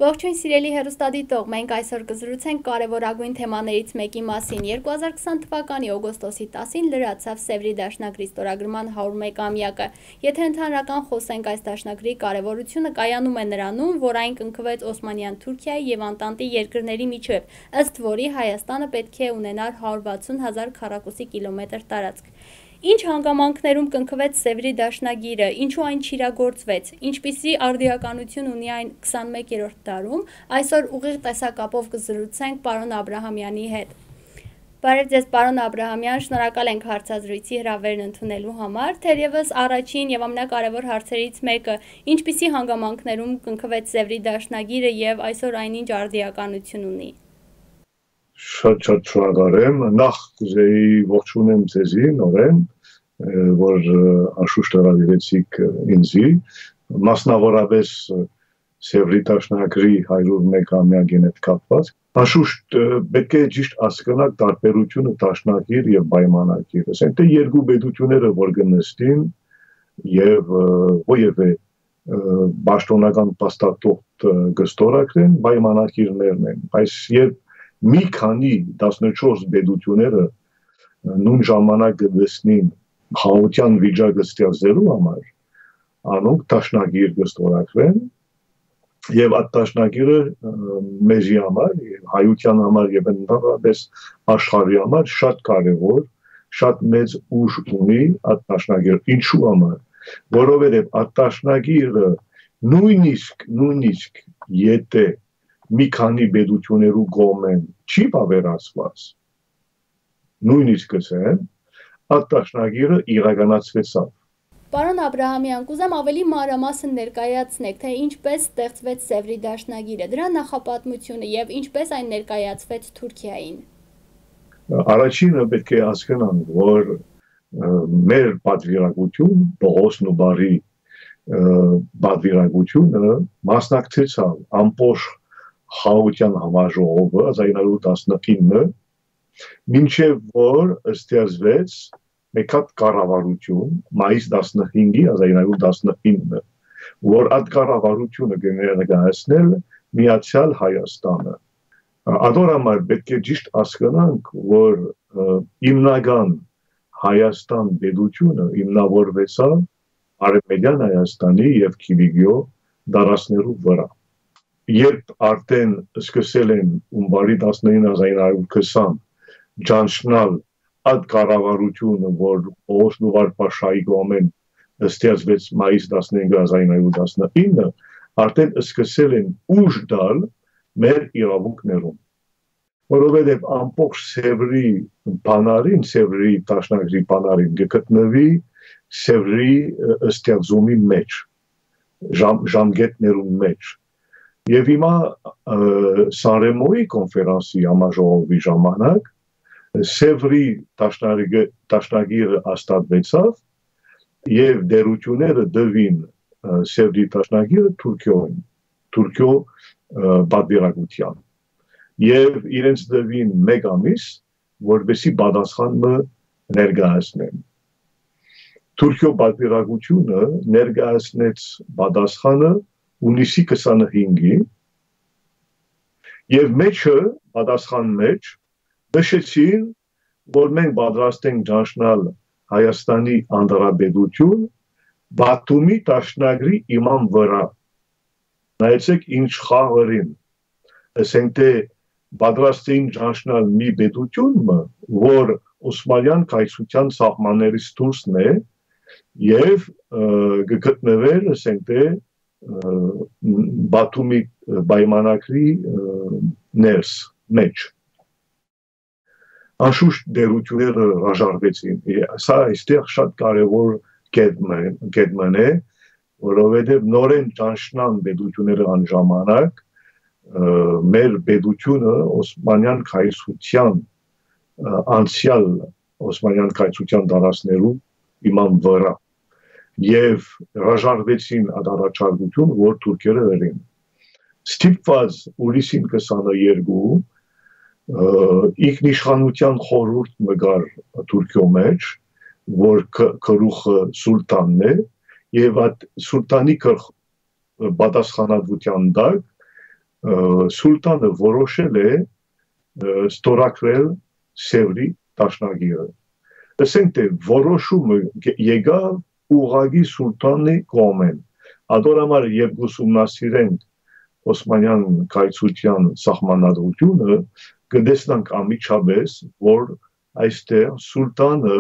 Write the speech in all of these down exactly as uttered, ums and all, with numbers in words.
Ողջույն սիրելի հեռուստադիտող, մենք այսօր կզրուցենք կարևորագույն թեմաներից մեկի մասին։ երկու հազար քսան թվականի օգոստոսի տասին լրացավ Սևրի դաշնագրի ստորագրման հարյուրամյակը։ Եթե ընդհանրական խոսենք այս դաշնագրի կարևորությունը կայանում է նրանում, որ այն կնքվեց Օսմանյան Թուրքիայի և Անտանտի երկրների միջև, ըստ որի Հայաստանը պետք է ունենար հարյուր վաթսուն հազար քառակուսի կիլոմետր տարածք։ Ինչ հանգամանքներում կնքվեց Սևրի դաշնագիրը, ինչու այն չիրագործվեց, ինչպիսի արդիականություն ունի այն քսանմեկերորդ դարում, այսօր ուղիղ տեսակապով կզրուցենք պարոն Աբրահամյանի հետ։ Բարև ձեզ պարոն Աբրահամյան, շնորհակալ ենք հարցազրույցի հրավերն ընդունելու համար, թերևս առաջին և ամենակարևոր հարցերից մեկը, ինչպիսի հանգամանքներում կնքվեց Սևրի դաշնագիրը և այսօր այն ինչ արդիականություն ունի։ Շատ շատ շնորհակալ եմ, նախ կուզեի ողջունեմ ձեզի նորեն, որ անշուշտ հրավիրեցիք ինձի, մասնավորապես Սևրի դաշնագրի հարյուրամյակին հետ կապված, անշուշտ պետք է ճիշտ հասկանալ տարբերությունը դաշնագիր և պայմանագիր, ասենք թե երկու պետությունները որ կնստին և որևէ պաշտոնական փաստաթուղթ կստորագրեն, պայմանագիրներն են, բայց երբ մի քանի տասնչորս պետությունները նույն ժամանակ կդեսնին խաղաղության վիճակը ստեղծելու համար, անոնք դաշնագիր կստորագրեն և այդ դաշնագիրը մեզի համար, հայության համար և ընդհանրապես աշխարհի համար շատ կարևոր, շատ մեծ ուժ ունի այդ դաշնագիրը, ինչու համար, որովհետև այդ դաշնագիրը նույնիսկ նույնիսկ եթե մի քանի պետություններու կողմեն չի բավարարված, նույնիսկ ասեմ, այդ դաշնագիրը իրականացվեցավ։ Պարոն Աբրահամյան, կուզեմ ավելի մանրամասն ներկայացնեք, թե ինչպես ստեղծվեց Սևրի դաշնագիրը, դրա նախապատմությունը և ինչպես այն ներկայացվեց Թուրքիային։ Առաջինը պետք է հասկանանք, որ մեր պատվիրակություն, Պողոս Նուբարի պատվիրակությունը մասնակցեցավ ամբողջ խաղաղության համաժողովը հազար ինը հարյուր տասնինը, մինչև որ ստեղծվեց մեկ հատ կառավարություն մայիս տասնհինգի հազար ինը հարյուր տասնինը, որ այդ կառավարությունը կներկայացնել Միացյալ Հայաստանը։ Ադոր համար պետք է ճիշտ հասկանանք, որ հիմնական Հայաստան պետությունը հիմնավորվեցավ Արևմտյան Հայաստանի և Կիլիկիո դարածքներու վրա։ Երբ արդեն սկսել են հունվարի տասնինը հազար ինը հարյուր քսան ճանչնալ այդ կառավարությունը, որ Պողոս Նուբար Փաշայի կողմեն ստեղծվեց մայիս տասնհինգը հազար ինը հարյուր տասնինը, արդեն սկսել են ուժ տալ մեր իրավունքներում, որովհետև ամբողջ Սևրի բանալին, Սևրի դաշնագրի բանալին կգտնվի Սևրի ստեղծումի մեջ, ժամկետներում մեջ։ Եվ հիմա Սանրեմոյի կոնֆերանսի համաժողովի ժամանակ Սևրի դաշնագիրը հաստատվեցավ և դերությունները դվին Սևրի դաշնագիրը Թուրքիոյին, Թուրքիո պատվիրակության և իրենց դվին մեկ ամիս, որպեսզի պատասխանը ներկայացնեն։ Թուրքիո պատվիրակությունը ներկայացնեց պատասխանը հունիսի քսանհինգի և մեջը պատասխան մեջ նշեցին, որ մենք պատրաստ ենք ճանչնալ Հայաստանի Հանրապետություն Բաթումի դաշնագրի հիման վրա։ Նայեցեք ինչ խաղերին, ասենք թե պատրաստ էին ճանչնալ մի պետություն, որ Օսմանյան կայսրության սահմաններից դուրսն է և կգտնվեր, ասենք թե Բաթումի պայմանագրի ներս մեջ։ Անշուշտ դերությունները հրաժարվեցին, սա այստեղ շատ կարևոր կետմն է, որովհետև նորեն ճանչնան պետությունները այն ժամանակ մեր պետությունը Օսմանյան կայսրության անցյալ Օսմանյան կայսրության տարածքներու հիման վրա և հրաժարվեցին այդ առաջարկություն, որ թուրքերը հրին։ Ստիպված հուլիսին քսաներկու ինքնիշխանության խորհուրդ մգար Թուրքիո մեջ, որ գլուխը սուլտանն է, եւ այդ սուլտանի պատասխանատվության տակ սուլտանը որոշել է ստորագրել Սևրի դաշնագիրը։ Ասենք թե որոշումը եկավ ուղղակի սուլտանի կողմեն։ Ադորամար երբ ուսումնասիրենք Օսմանյան կայսրության սահմանադրությունը, կտեսնենք անմիջապես, որ այստեղ սուլտանը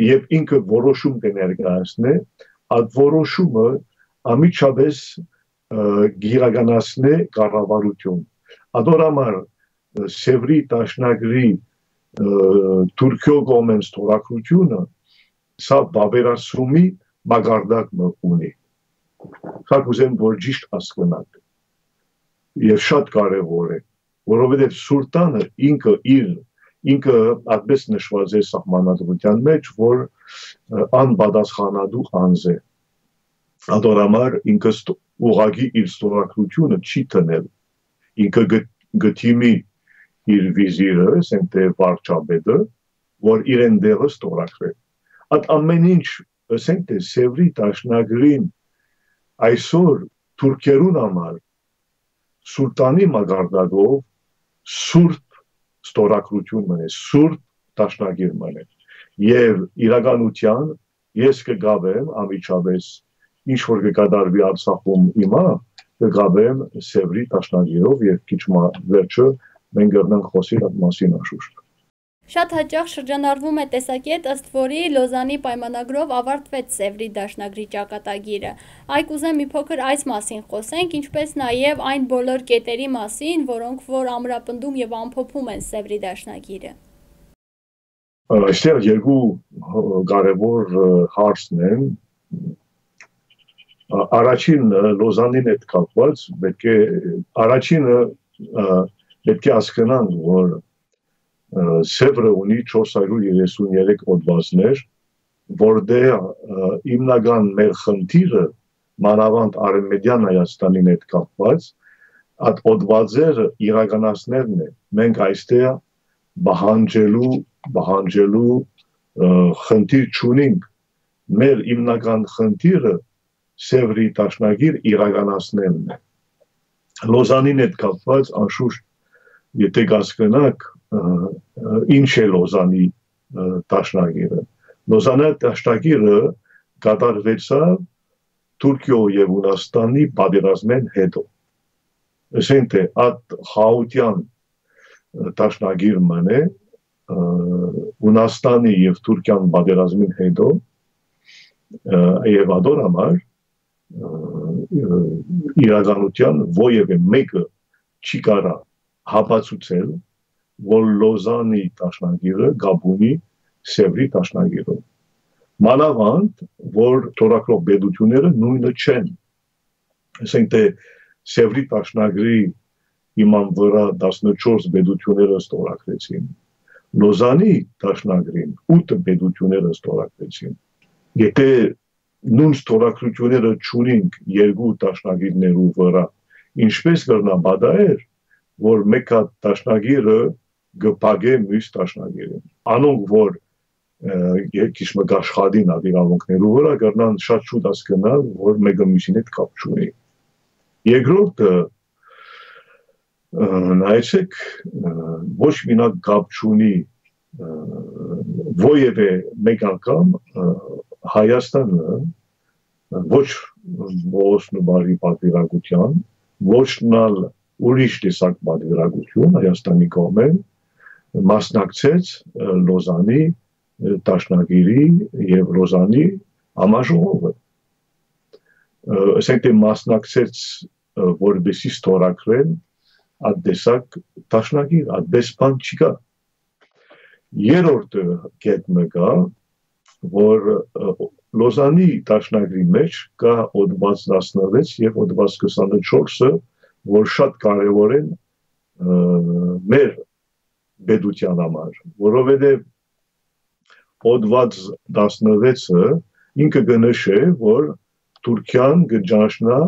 երբ ինքը որոշում կներկայացնի, այդ որոշումը անմիջապես գիրականացնի կառավարություն։ Ադորամար Սևրի դաշնագրի Թուրքիո կողմեն ստորագրությունը սա բավերացումի մակարդակ ունի։ Սա կուզեմ, որ ճիշտ հասկանաք։ Եվ շատ կարևոր է, որովհետև սուլտանը ինքը իր ինքը այդպես նշված է սահմանադրության մեջ, որ անպատասխանատու անձ է։ Ադորամար ինքը ուղղակի իր ստորագրությունը չի տնել։ Ինքը գտիմի իր վիզիրը, ասենք թե վարչապետը, որ իրեն դեղը ստորագրել։ Այդ ամեն ինչ, ասենք թե Սևրի դաշնագրին այսօր թուրքերուն համար սուլտանի մակարդակով սուրբ ստորագրություն մնե, սուրբ դաշնագիր մնե։ Եվ իրականության ես կգավեմ անմիջապես ինչ որ կկատարվի Արցախում հիմա, կգավեմ Սևրի դաշնագիրով եւ քիչ վերջը մենք կգնանք խոսել այդ մասին անշուշտ։ Շատ հաճախ շրջանառվում է տեսակետ, ըստ որի Լոզանի պայմանագրով ավարտվեց Սևրի դաշնագրի ճակատագիրը։ Այ կուզեմ մի փոքր այս մասին խոսենք, ինչպես նաև այն բոլոր կետերի մասին, որոնք որ ամրապնդում եւ ամփոփում են Սևրի դաշնագիրը։ Այստեղ երկու կարևոր հարցն են։ Առաջին Լոզանին հետ կապված պետք է առաջինը պետք է հասկանանք, որ Սևրը ունի չորս հարյուր երեսուններեք հոդվածներ, որտեղ հիմնական մեր խնդիրը մանավանդ Արևմտյան Հայաստանին հետ կապված այդ հոդվածերը իրականացնելն է։ Մենք այստեղ բահանջելու բահանջելու խնդիր չունենք։ Մեր հիմնական խնդիրը Սևրի դաշնագիր իրականացնելն է։ Լոզանին հետ կապված անշուշտ եթե կասկնակ ինչ է Լոզանի դաշնագիրը։ Լոզանի դաշնագիրը կատարվեցավ Թուրքիո եւ Հունաստանի պատերազմեն հետո։ Ասենք թե այդ խաղաղության դաշնագիր մնե Հունաստանի եւ Թուրքիան պատերազմին հետո եւ ադորամար իրականության ովևէ մեկը չի կարա հապացուցել, որ Լոզանի դաշնագիրը գաբունի Սևրի դաշնագիրով։ Մանավանդ, որ թորակրող պետությունները նույնը չեն։ Ասենք թե Սևրի դաշնագրի իման վրա տասնչորս պետությունները ստորագրեցին։ Լոզանի դաշնագրին ութ պետությունները ստորագրեցին։ Եթե նույն ստորագրությունները չունենք երկու դաշնագիրներու վրա, ինչպես կրնա բադայեր, որ մեկ հատ դաշնագիրը գպագե մյուս դաշնագիրին։ Անոնք, որ քիչ մը աշխատին այդ իրավունքներու վրա, կրնան շատ շուտ հասկանալ, որ մեկը մյուսին հետ կապ չունի։ Երկրորդը նայեցեք, ոչ մենակ կապ չունի ովևէ մեկ անգամ Հայաստանը ոչ ոսնու բարի պատվիրակության, ոչ նալ ուրիշ տեսակ պատվիրակություն Հայաստանի կողմեն մասնակցեց Լոզանի դաշնագիրի եւ Լոզանի համաժողովը։ Ասենք թե մասնակցեց որպեսի ստորագրեն այդ տեսակ դաշնագիր, այդպես բան չկա։ Երրորդ կետը կա, որ Լոզանի դաշնագրի մեջ կա հոդված տասնվեց եւ հոդված քսանչորսը, որ շատ կարեւոր են մեր պետության համար, որովհետեւ հոդված տասնվեցը ինքը կնշե, որ Թուրքիան կճանաչնա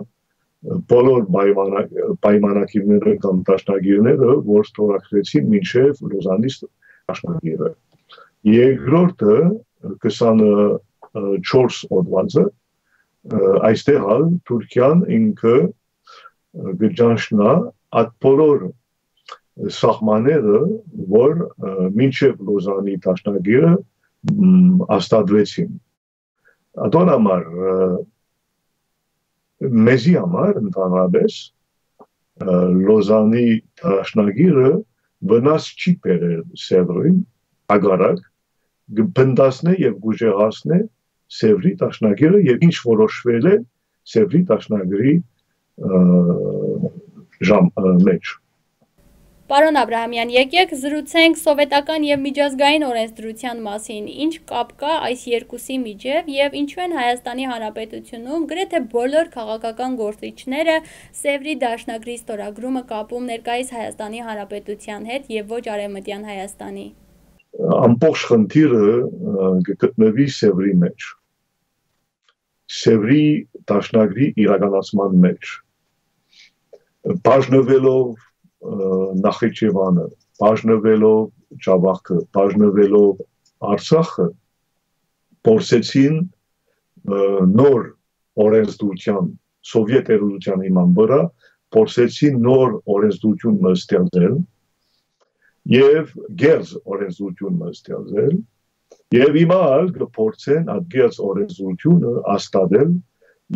բոլոր պայմանագիրները կամ դաշնագիրները, որ ստորագրեցին մինչև Լոզանի դաշնագիրը։ Երկրորդը քսանչորս հոդվածը այստեղ ալ Թուրքիան ինքը գճանշնա այդ բոլոր սահմանները, որ մինչև Լոզանի դաշնագիրը աստատվեցին։ Ադոր համար մեզի համար ընդհանրապես Լոզանի դաշնագիրը վնաս չի բերել Սևրին, հակառակ գբնդասն է եւ գուժեղացն է Սևրի դաշնագիրը եւ ինչ որոշվել է Սևրի դաշնագրի ժամ մեջ։ Պարոն Աբրահամյան, եկեք զրուցենք սովետական եւ միջազգային օրենսդրության մասին, ինչ կապ կա այս երկուսի միջև եւ ինչու են Հայաստանի Հանրապետությունում գրեթե բոլոր քաղաքական գործիչները Սևրի դաշնագրի ստորագրումը կապում ներկայիս Հայաստանի Հանրապետության հետ եւ ոչ Արևմտյան Հայաստանի։ Ամբողջ խնդիրը գտնվի Սևրի մեջ։ Սևրի դաշնագրի իրականացման մեջ։ Բաժնվելով Նախիջևանը, բաժնվելով Ջավախքը, բաժնվելով Արցախը, փորձեցին նոր օրենսդրության, սովետ երուսության հիման վրա, փորձեցին նոր օրենսդրություն ստեղծել եւ գերզ օրենսդրություն ստեղծել եւ հիմա կփորձեն այդ գերզ օրենսդրությունը աստատել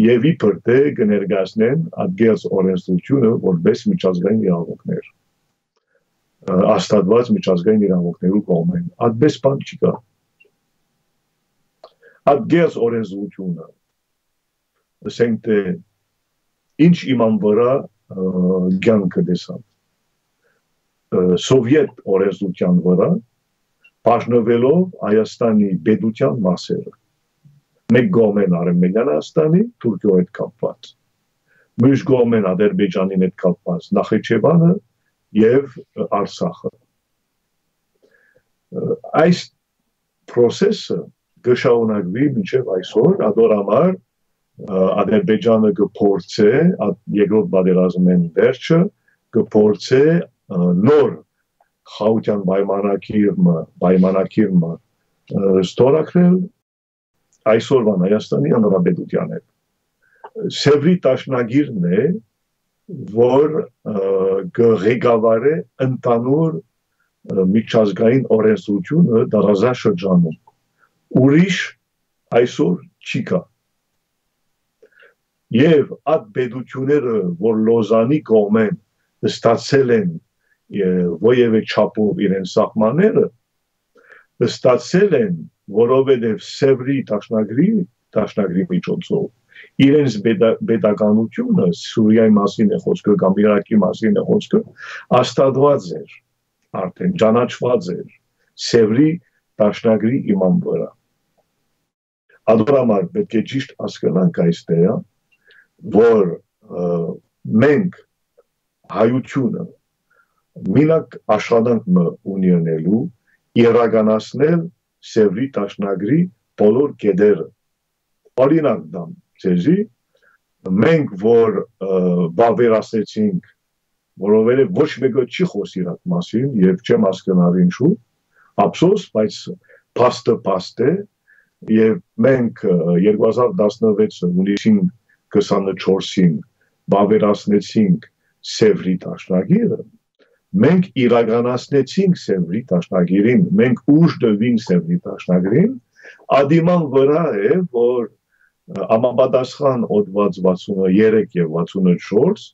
եւ իբր թե կներկայացնեն այդ գերզ օրենսդրությունը որպես միջազգային իրավունքներ աստատված միջազգային իրավունքներու կողմեն այդպես բան չկա այդ գերզ օրենսդրությունը ասենք թե ինչ իման վրա կյանքը դեսան սովետ օրենսդրության վրա բաժնվելով Հայաստանի պետության մասերը մեկ կողմեն Արևմտյան Հայաստանի, Թուրքիայի հետ կապված, մյուս կողմեն Ադրբեջանի հետ կապված Նախիջևանը եւ Արցախը։ Այս process-ը կշարունակվի մինչև այսօր, ադոր համար Ադրբեջանը կփորձե երկրորդ պատերազմեն վերջը կփորձե նոր խաղաղության պայմանագիրը պայմանագիրը ստորագրել այսօրվան Հայաստանի Հանրապետության հետ։ Սևրի դաշնագիրն է, որ կղեկավարի ընդհանուր միջազգային օրենսդրությունը տարածաշրջանում։ Ուրիշ այսօր չի կա։ Եվ այդ պետությունները, որ Լոզանի կողմեն ստացել են որևէ չափով իրենց սահմանները, ստացել են որովհետև Սևրի դաշնագրի դաշնագրի միջոցով իրենց պետականությունը Սուրիայի մասին է խոսքը կամ Իրաքի մասին է խոսքը աստատված էր արդեն ճանաչված էր Սևրի դաշնագրի իման վրա ադոր համար պետք է ճիշտ հասկանանք այստեղ որ մենք հայությունը մինակ աշխատանք ունենալու իրականացնել Սևրի դաշնագրի բոլոր կետերը։ Օրինակ դամ ցեզի մենք որ բավերացեցինք, որովհետև ոչ մեկը չի խոսի այդ մասին եւ չեմ հասկանալ ինչու, ափսոս, բայց փաստը փաստ է եւ մենք երկու հազար տասնվեց հունիսին քսանչորսին բավերացնեցինք Սևրի դաշնագիրը մենք իրականացնեցինք Սևրի դաշնագիրին, մենք ուժ տվին Սևրի դաշնագիրին, ադիման վրա է, որ համապատասխան օդված վաթսուններեք եւ վաթսունչորս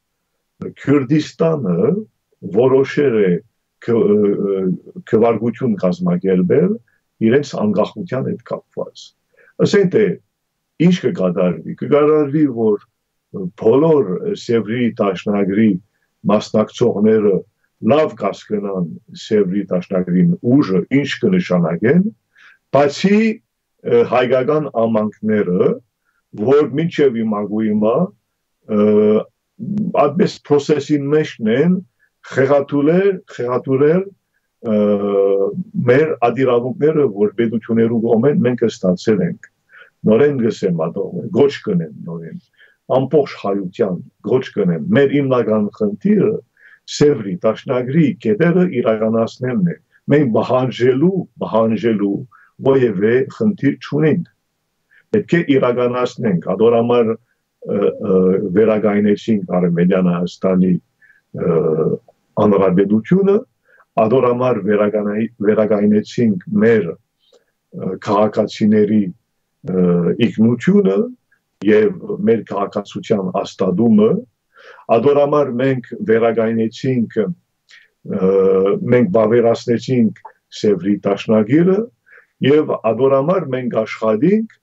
Քուրդիստանը որոշել է քվարկություն կազմակերպել իրենց անկախության հետ կապված։ Ասենք թե ինչ կկատարվի, կկատարվի, որ բոլոր Սևրի դաշնագրի մասնակցողները լավ կասկնան Սևրի դաշնագրին ուժը ինչ կնշանակեն, բացի հայկական ամանքները, որ մինչև իմագույմա այդպես process-ին մեջն են խեղաթուրել, խեղաթուրել մեր ադիրավունքները, որ պետություններու կողմեն մենք ստացել ենք։ Նորեն գսեմ ադող, գոչ կնեմ նորեն, ամբողջ հայության գոչ կնեմ, մեր հիմնական խնդիրը Սևրի դաշնագրի կետերը իրականացնելն է։ Մենք բանջելու, բանջելու որևէ խնդիր չունենք։ Պետք է իրականացնենք, ադոր համար վերագայնեցինք Արմենիան Հայաստանի անհրաժեշտությունը, ադորամար վերագայնեցինք մեր քաղաքացիների ինքնությունը եւ մեր քաղաքացիության աստադումը, ադորամար մենք վերագայնեցինք, մենք բավերացնեցինք Սևրի Տաշնագիրը եւ ադորամար մենք աշխատենք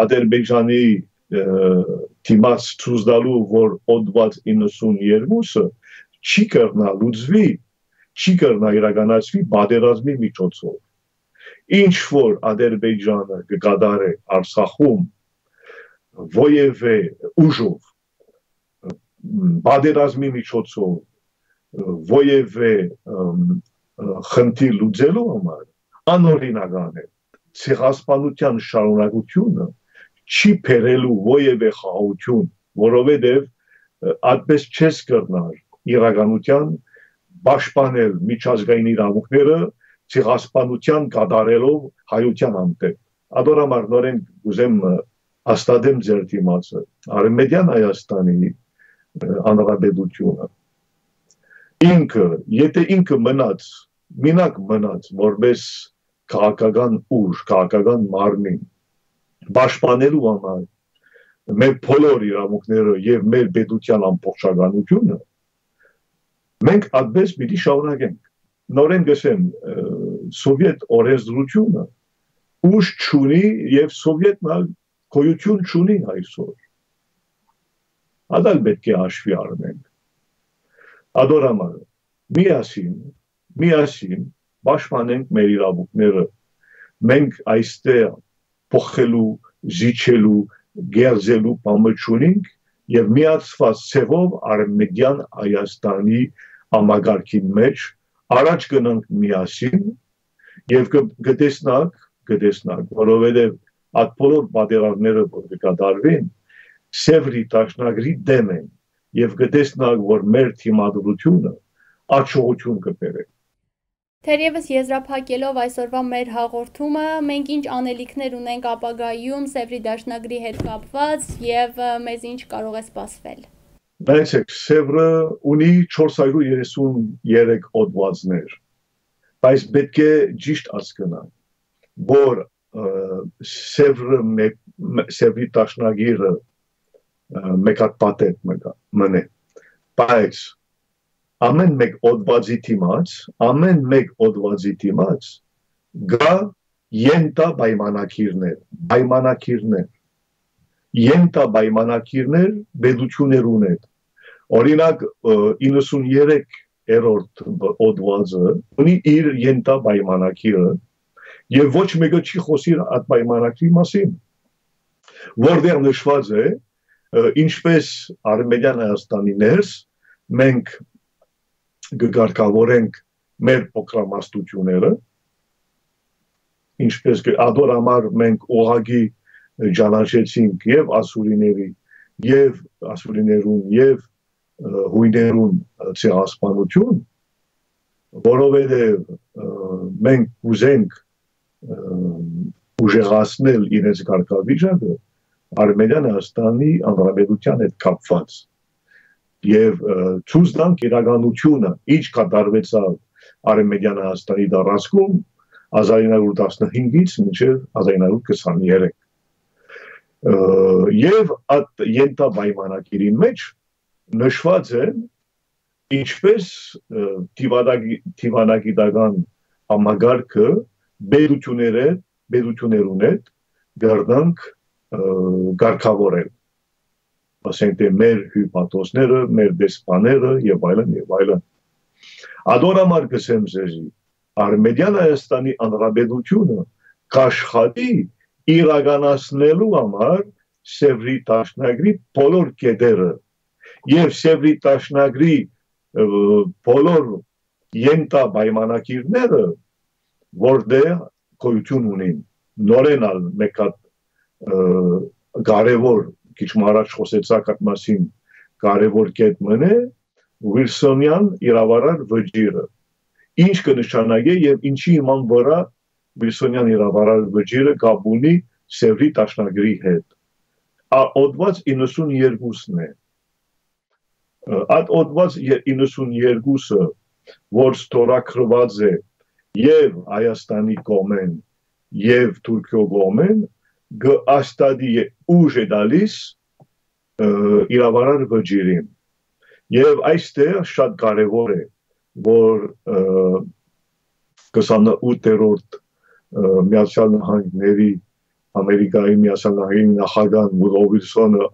Ադրբեջանի թիմած ցույցդալու, որ օդված իննսունյերկուսը չի կրնա լուծվի, չի կրնա իրականացվի պատերազմի միջոցով։ Ինչ որ Ադրբեջանը կկատարի Արցախում ոևէ ուժով, պատերազմի միջոցով, ոևէ խնդիր լուծելու համար, անօրինական է։ Ցեղասպանության շարունակությունը չի բերելու ոևէ խաղաղություն, որովհետև այդպես չես կրնար իրականության պաշտպանել միջազգային իրավունքները ցեղասպանության կատարելով հայության անտեպ։ Ադորամար նորեն կուզեմ հաստատեմ ձեր դիմացը Արմենիան Հայաստանի անհրաժեշտությունը ինքը, եթե ինքը մնաց, մենակ մնաց, որպես քաղաքական ուժ, քաղաքական մարմին, պաշտպանելու համար մեր բոլոր իրավունքները եւ մեր պետության ամբողջականությունը, մենք այդպես պիտի շարունակենք։ Նորեն գսեմ, սովետ օրենսդրությունը ուժ չունի եւ սովետն գոյություն չունի այսօր։ Ադալ պետք է հաշվի առնենք։ Ադորամար, միասին, միասին պաշտպանենք մեր իրավունքները, մենք այստեղ փոխելու, զիջելու, գերզելու բանը չունենք եւ միացված ցևով Արմենիան Հայաստանի համագարկի մեջ առաջ գնանք միասին եւ կտեսնանք, կտեսնանք, որովհետեւ այդ բոլոր պատերազմները որ կկատարվեն Սևրի Տաշնագրի դեմ են եւ կտեսնանք, որ մեր թիմադրությունը աճողություն կբերի։ Թերևս եզրափակելով այսօրվա մեր հաղորդումը, մենք ինչ անելիքներ ունենք ապագայում Սևրի Դաշնագրի հետ կապված եւ մեզ ինչ կարող է սպասվել։ Նայեցեք, Սևրը ունի չորս հարյուր երեսուններեք օդվածներ, բայց պետք է ճիշտ հասկանալ, որ Սևրը Սևրի Դաշնագիրը մեկ հատ պատետ մնե, բայց ամեն մեկ օդվածի դիմաց, ամեն մեկ օդվածի դիմաց գա ենտա պայմանակիրներ, պայմանակիրներ, ենտա պայմանակիրներ պետություններ ունեն։ Օրինակ իննսունյերեք-րդ օդվածը ունի իր ենտա պայմանակիրը եւ ոչ մեկը չի խոսի այդ պայմանակրի մասին, որտեղ նշված է ինչպես Արմենիան Հայաստանի ներս մենք կգարկավորենք մեր փոքրամասնությունները, ինչպես ադորամար մենք ուղղակի ճանաչեցինք եւ ասուրիների, եւ ասուրիներուն, եւ հույներուն ցեղասպանություն, որովհետեւ մենք ուզենք ուժեղացնել իրենց կարգավիճակը Արմենիան Հայաստանի անհրաժեշտության հետ կապված։ Եվ ցույց տանք իրականությունը, ինչ կատարվեցավ Արմենիան Հայաստանի տարածքում հազար ինը հարյուր տասնհինգից մինչև հազար ինը հարյուր քսաներեք։ Եվ այդ ենթա պայմանագիրի մեջ նշված է ինչպես դիվանագիտական համագարկը պետությունները, պետություններուն հետ գարնանք գարկավորել։ Ասենք թե մեր հյուպատոսները, մեր դեսպաները եւ այլն եւ այլն։ Ադորամար կսեմ ձեզի, Արմենիան Հայաստանի անհրաժեշտությունը կաշխատի իրականացնելու համար Սևրի Տաշնագրի բոլոր կետերը եւ Սևրի Տաշնագրի բոլոր ենթա պայմանագիրները, որտեղ գոյություն ունին, նորենալ մեկ հատ կարևոր քիչ առաջ խոսեցաք այդ մասին կարևոր կետ մնե Վիլսոնյան իրավարար վճիռը ինչ կնշանակի եւ ինչի իման վրա Վիլսոնյան իրավարար վճիռը կապ ունի Սևրի Տաշնագրի հետ օդված իննսունյերկուսն է։ Այդ օդված իննսունյերկուսը, որ ստորագրված է եւ Հայաստանի կողմեն եւ Թուրքիո կողմեն, գաստադի ուժ է դալիս իրավարար վճիրին։ Եվ այստեղ շատ կարևոր է, որ քսանութերորդ Միացյալ Նահանգների Ամերիկայի Միացյալ Նահանգների նախագահ Վուդրո Վիլսոնը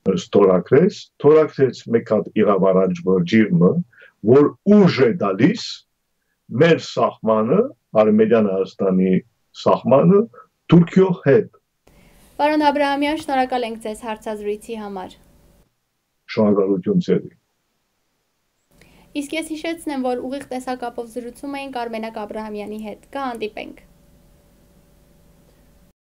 ստորագրեց, ստորագրեց մեկ հատ իրավարար վճիրը, որ ուժ է դալիս մեր սահմանը, Արմենիան Հայաստանի սահմանը Թուրքիո հետ։ Պարոն Աբրահամյան, շնորհակալ ենք ձեզ հարցազրույցի համար։ Շնորհակալություն ձեզ։ Իսկ ես հիշեցնեմ, որ ուղիղ տեսակապով զրուցում էինք Արմենակ Աբրահամյանի հետ։ Կհանդիպենք։